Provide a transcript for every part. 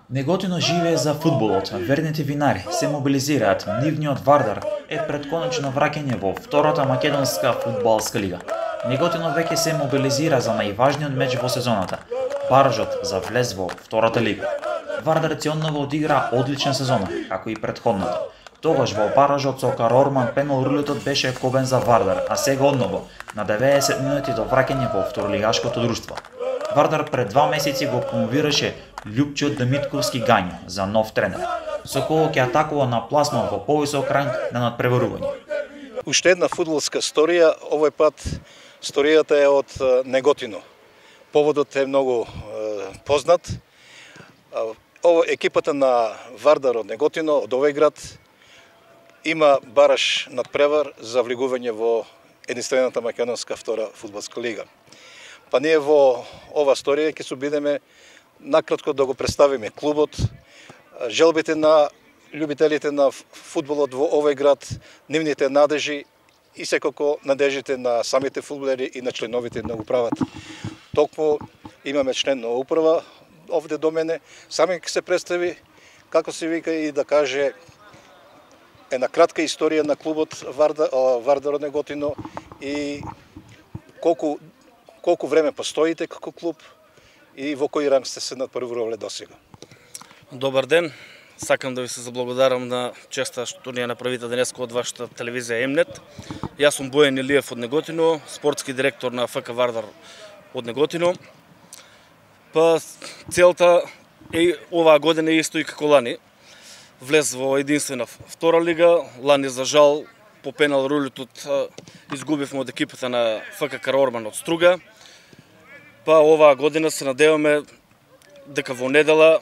Неготино живее за фудбалот, верните винари се мобилизираат, нивниот Вардар е пред конечно враќање во втората македонска фудбалска лига. Неготино веќе се мобилизира за најважниот меч во сезоната, баражот за влез во втората лига. Вардар ќе одново одигра одлична сезона, како и претходната. Тогаш во баражот со Карорман пенал рулетот беше кобен за Вардар, а сега одново, на 90 минути до враќање во второлигашкото друштво. Вардар пред 2 месеци го промовираше Љупчо Демитковски Гањо за нов тренер, со кој ќе атакува на пласман во повисок ранг на надпреварување. Уште една фудбалска сторија, овој пат сторијата е од Неготино. Поводот е многу познат. Екипата на Вардар од Неготино, од овој град, има бараш надпревар за влегување во единствената македонска втора фудбалска лига. Па ние во ова сторија ќе се обидеме накратко да го представиме клубот, желбите на љубителите на фудбалот во овој град, нивните надежи и секако надежите на самите фудбалери и на членовите да го прават. Токму имаме член на управа овде до мене, сами ќе се представи, како се вика и да каже една кратка историја на клубот Вардар од Неготино и колку време постоите како клуб и во кој ранг сте се надпреварувале досега. Добар ден, сакам да ви се заблагодарам на честа што ни ја направите денеска од вашата телевизија Емнет. Јас сум Бојан Илиев од Неготино, спортски директор на ФК Вардар од Неготино. Па целта е оваа година исто и како лани. Влез во единствена втора лига, лани за жал по пенал рулетот изгубивме од екипата на ФК Карорман од Струга. Па оваа година се надеваме дека во недела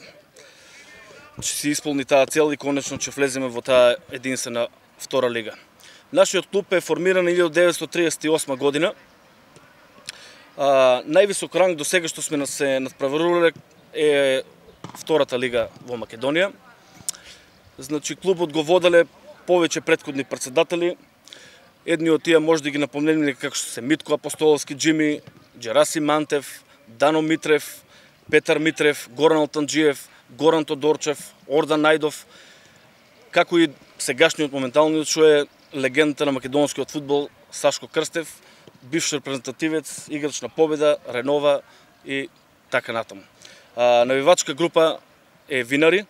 ќе се исполни таа цел и конечно ќе влеземе во таа единствена втора лига. Нашиот клуб е формиран 1938 година. Највисок ранг до сега што сме се надпреварувале е втората лига во Македонија. Значи клубот го воделе повеќе претходни претседатели. Едни од тие може да ги напомнеме како што се Митко Апостоловски, Джими, Джераси Мантев, Дано Митрев, Петар Митрев, Горан Алтанџиев, Горан Тодорчев, Ордан Најдов, како и сегашниот моменталниот што е легендата на македонскиот фудбал Сашко Крстев, бивш репрезентативец, играч на Победа, Ренова и така натаму. Навивачка група е Винари,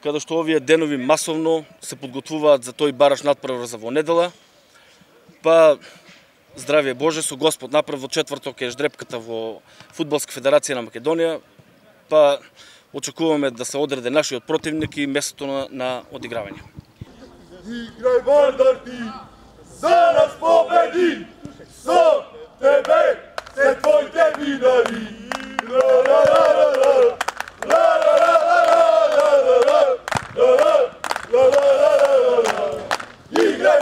каде што овие денови масовно се подготвуваат за тој бараш надпревар за во недела. Па здравје Боже, со Господ напред во четврток е ждрепката во Фудбалска федерација на Македонија. Па очекуваме да се одреде нашиот противник и местото на одигравање. Играј Вардар ти, за нас победи, со тебе се твоите винари. Играј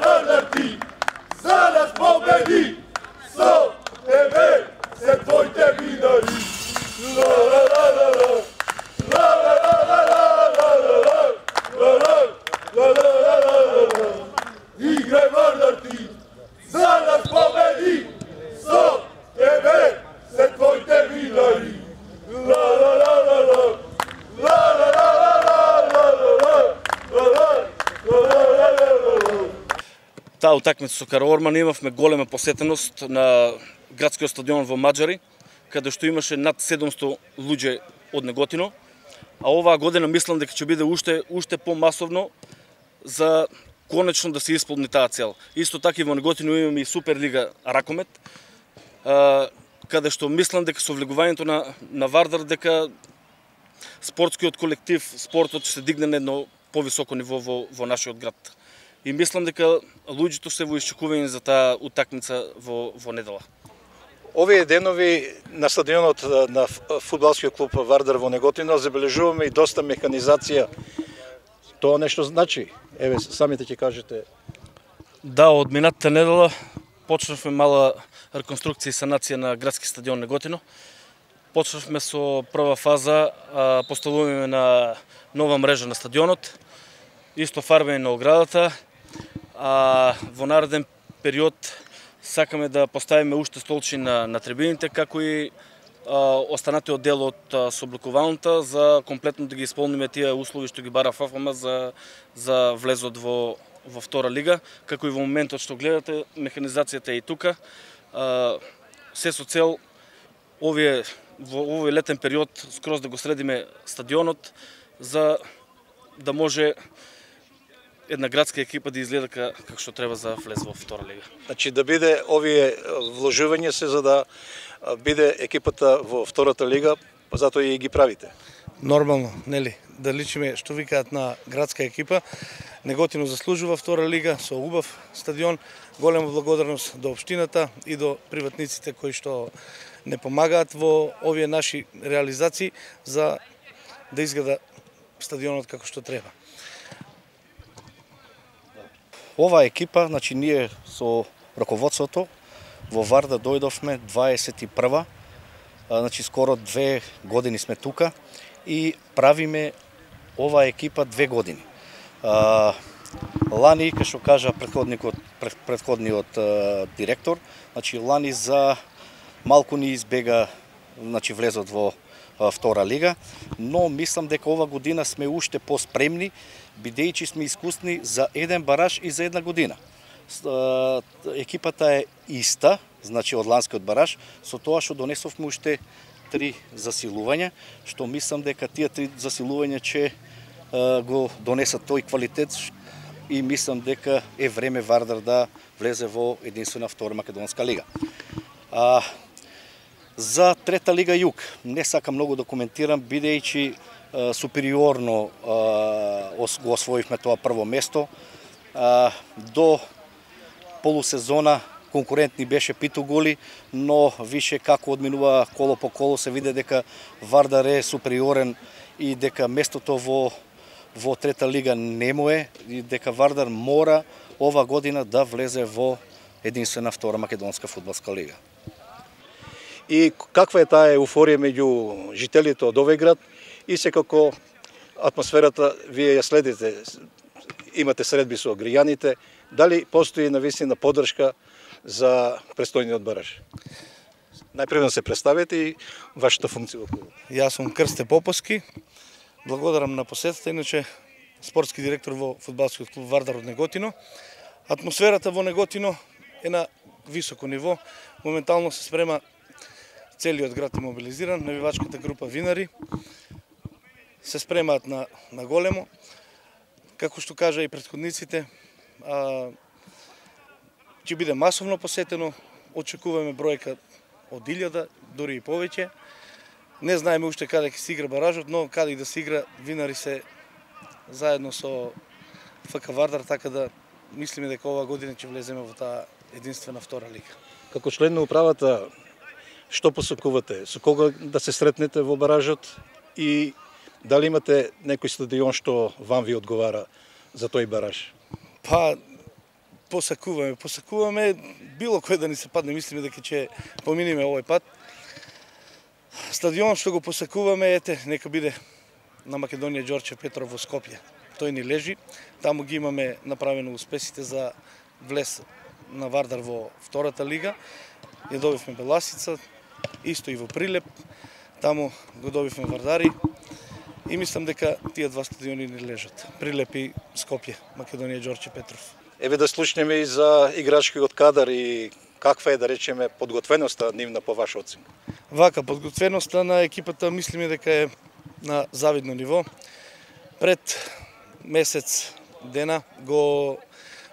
Вардар ти, за нас победи, со тебе се твоите винари. Играј Вардар ти, за нас победи, со тебе се твоите винари. Таа утакмица со Карорман имавме голема посетеност на градскиот стадион во Маџари, каде што имаше над 700 луѓе од Неготино, а оваа година мислам дека ќе биде уште помасовно за конечно да се исполни таа цел. Исто така и во Неготино имаме и Суперлига Ракомет, каде што мислам дека со влегувањето на Вардар дека спортскиот колектив, спортот ќе се дигне на едно повисоко ниво во нашиот град. И мислам дека луѓето се во исчекување за таа утакмица во недела. Овие денови на стадионот на фудбалскиот клуб Вардар во Неготино забележуваме и доста механизација. Тоа нешто значи? Еве, самите ќе кажете. Да, од минатата недела почнавме мала реконструкција и санација на градски стадион Неготино. Почнавме со прва фаза, поставување на нова мрежа на стадионот, исто фарбење на оградата, а во нареден период сакаме да поставиме уште столчи на трибините, како и останатиот дел од собликувалната за комплетно да ги исполниме тие услови што ги бара ФФМ за влезот во втора лига, како и во моментот што гледате, механизацијата е и тука. Се со цел во овој летен период скроз да го средиме стадионот за да може една градска екипа да изгледа како што треба за влез во втора лига. Значи да биде овие вложувања се за да биде екипата во втората лига, па затоа и ги правите. Нормално, нели? Да личиме што викаат на градска екипа. Неготино заслужува втора лига со убав стадион. Голема благодарност до општината и до приватниците кои што не помагаат во овие наши реализации за да изгледа стадионот како што треба. Ова екипа, значи ние со раководството во Вардар дојдовме 21-ва, значи скоро 2 години сме тука и правиме ова екипа 2 години. Лани, кај што кажа претходниот директор, значи лани за малку ни избега значи влезот во втора лига, но мислам дека ова година сме уште поспремни, бидејќи сме искусни за еден бараж и за една година. Екипата е иста, значи од ланскиот бараж, со тоа што донесовме уште 3 засилувања, што мислам дека тие 3 засилувања ќе го донесат тој квалитет и мислам дека е време Вардар да влезе во единствена втора македонска лига. За трета лига Југ не сакам многу да коментирам, бидејќи супериорно го освоивме тоа прво место. До полусезона конкурентни беше Питу голи, но више како одминува коло по коло се виде дека Вардар е супериорен и дека местото во трета лига не му е и дека Вардар мора ова година да влезе во единствена втора македонска фудбалска лига. И каква е таа еуфорија меѓу жителите од овој град и секако атмосферата вие ја следите, имате средби со граѓаните, дали постои навистина поддршка за престојниот бараж? Најпрво се представете и вашата функција во клубот. Јас сум Крсте Поповски. Благодарам на посетата, иначе спортски директор во фудбалскиот клуб Вардар од Неготино. Атмосферата во Неготино е на високо ниво. Моментално се спрема целиот град е мобилизиран, навивачката група Винари се спремаат на големо. Како што кажа и претходниците, ќе биде масовно посетено, очекуваме бројка од 1000, дури и повеќе. Не знаеме уште каде ќе се игра баражот, но каде и да се игра, Винари се заедно со ФК Вардар, така да мислиме дека оваа година ќе влеземе во таа единствена втора лига. Како член на управата, што посакувате? Со кога да се сретнете во баражот и дали имате некој стадион што вам ви одговара за тој бараж? Па, посакуваме било кој да ни се падне, мислиме дека ќе поминиме овој пат. Стадион што го посакуваме, ете, нека биде на Македонија Ѓорче Петров во Скопје. Тој ни лежи, таму ги имаме направено успесите за влез на Вардар во втората лига. Ја добивме Беласица, исто и во Прилеп, таму го добивме Вардари и мислам дека тие два стадиони ни лежат. Прилеп и Скопје, Македонија Ѓорче Петров. Еве да слушнеме и за играчкиот кадар и каква е, да речеме, подготвеноста нивна по ваша оценка. Вака, подготвеноста на екипата мислиме дека е на завидно ниво. Пред месец дена го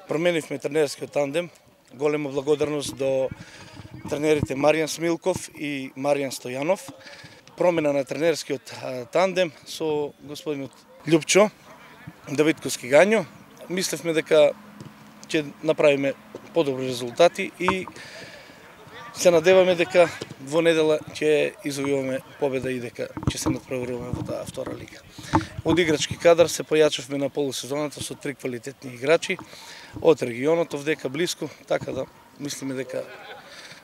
променивме тренерскиот тандем. Голема благодарност до тренерите Маријан Смилков и Маријан Стојанов. Промена на тренерскиот тандем со господинот Љупчо Давидковски Гањо. Мислевме дека ќе направиме подобри резултати и се надеваме дека во недела ќе извојуваме победа и дека ќе се надпреваруваме во таа втора лига. Од играчки кадар се појачавме на полусезоната со 3 квалитетни играчи од регионот овдека блиску, така да мислиме дека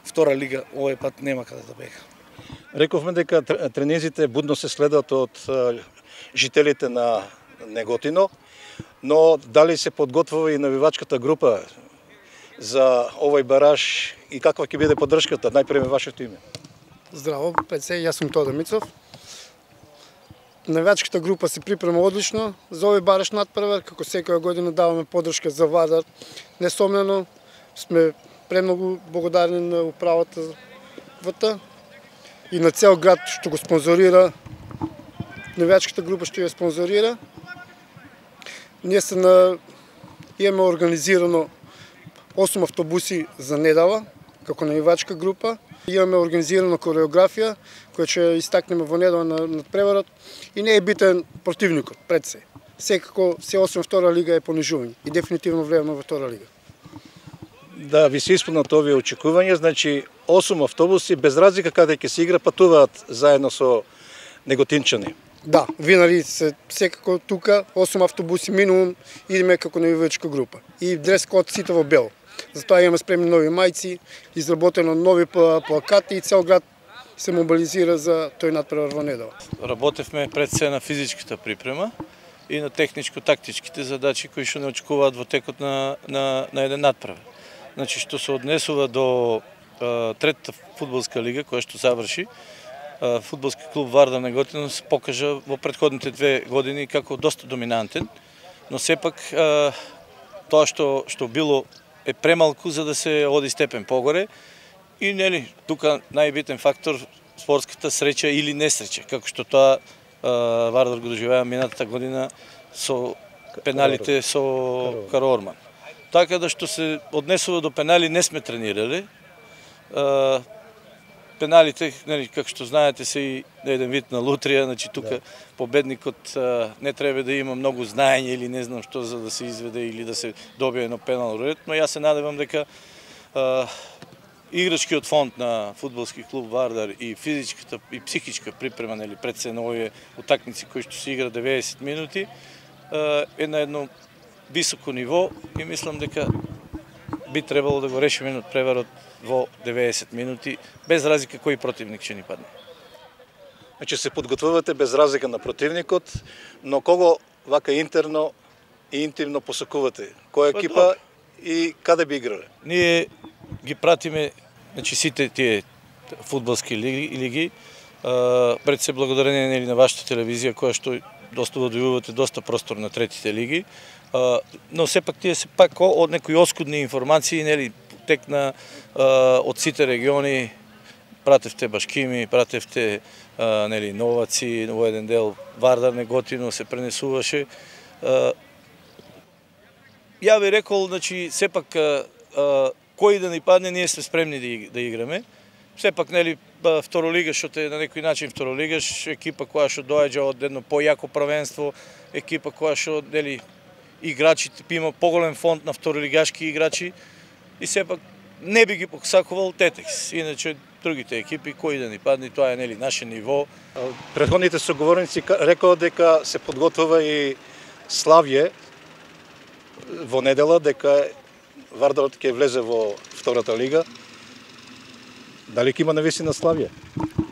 втора лига овој пат нема каде да бега. Рековме дека тренизите будно се следат од жителите на Неготино, но дали се подготвува и навивачката група за овој бараж и каква ќе биде поддршката, најпред вашето име? Здраво, пред се, јас сум Тодор Мицов. Навијачката група се припрема одлично за овој бараш надпревар, како секоја година даваме поддршка за Вардар. Несомнено сме премногу благодарни на управата ВТ и на цел град што го спонзорира, навијачката група што ја спонзорира. Ние имаме организирано 8 автобуси за недела, како навивачка група. Имаме организирана кореографија, која ќе истакнеме во недела на надпреварот и не е битен противникот пред се. Секако се 8 втора лига е понижување и дефинитивно влејаме во втора лига. Да, ви се исполнат овие очекувања, значи 8 автобуси без разлика каде ќе се игра патуваат заедно со неготинчани. Да, винари се секако тука 8 автобуси минимум идеме како навивачка група. И дрес код сите во бело. Затоа имаме спремни нови мајци, изработено нови плакати и цел град се мобилизира за тој надпревар во недела. Работевме пред се на физичката припрема и на техничко-тактичките задачи кои што не очекуваат во текот на еден надпревар. Значи што се однесува до третата фудбалска лига која што заврши, фудбалски клуб Вардар Неготино се покажа во претходните 2 години како доста доминантен, но сепак тоа што било е премалку за да се оди степен погоре и нели тука најбитен фактор спортската среќа или несреќа, како што тоа Вардар го доживеа минатата година со пеналите со Кароорман. Така да што се однесува до пенали не сме тренирале. Пеналите, нели, како што знаете, се и еден вид на лутрија, значи тука победникот не треба да има многу знаење или не знам што за да се изведе или да се добие едно пенал ред, но јас се надевам дека играчкиот фонд на фудбалски клуб Вардар и физичката и психичка припрема, нели, пред се на овие утакмици кои што се игра 90 минути е на едно високо ниво и мислам дека би требало да го решиме надпреварот во 90 минути, без разлика кој противник ќе ни падне. Значи се подготвувате без разлика на противникот, но кого вака интерно и интимно посакувате? Која екипа и каде би играле? Ние ги пратиме, значи сите тие фудбалски лиги, пред се благодарение, нели, на вашата телевизија која што доста дојувате доста простор на третите лиги, но сепак тие се пак од некои оскудни информации, нели, текна од сите региони, пратевте Башкими, пратевте нели, Новаци, во еден дел Вардар Неготино се пренесуваше. Ја би рекол, значи, сепак кој да ни падне, ние сме спремни да играме. Сепак, нели, второлигаш, што е на некој начин второлигаш, екипа која што доаѓа од едно појако правенство, екипа која што, нели, играчите има поголем фонд на второлигашки играчи и сепак не би ги посакувал Тетекс. Иначе другите екипи кои да ни падне, тоа е, нели, наше ниво. Претходните соговорници рекоа дека се подготвува и Славје во недела, дека Вардарот ќе влезе во втората лига. Дали ќе има навистина Славје?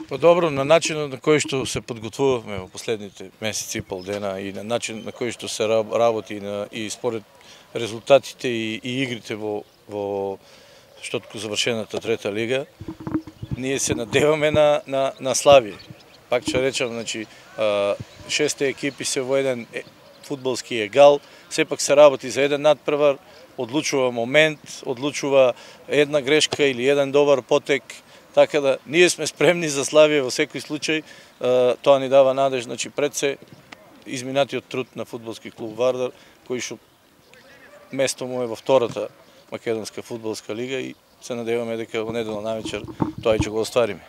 Добро, на начинот на кој што се подготвувавме во последните месеци и пол дена и на начин на кој што се работи и според резултатите и игрите во штотку завршената трета лига, ние се надеваме на Славје. Пак ќе речам, значи, 6 екипи се во еден фудбалски егал, сепак се работи за еден надпревар, одлучува момент, одлучува една грешка или еден добар потек, така да ние сме спремни за Славје во секој случај, тоа ни дава надеж, значи пред се изминатиот труд на фудбалски клуб Вардар, кој што место му е во втората македонска фудбалска лига и се надеваме дека во недела навечер тоа ќе го оствариме.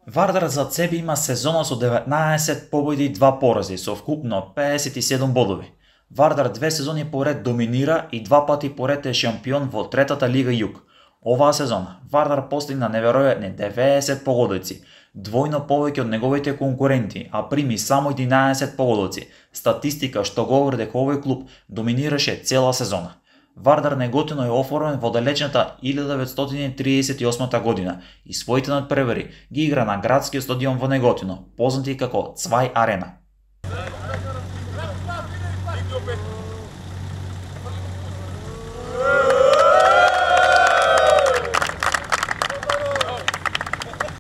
Вардар зад себе има сезона со 19 победи и 2 порази, со вкупно 57 бодови. Вардар 2 сезони поред доминира и 2 пати поред е шампион во третата лига Југ. Оваа сезона Вардар постигна неверојатни 90 погодоци, двојно повеќе од неговите конкуренти, а прими само 11 погодоци, статистика што говори дека овој клуб доминираше цела сезона. Вардар Неготино е оформен во далечната 1938 година и своите надпревари ги игра на градскиот стадион во Неготино, познати како Цвај Арена.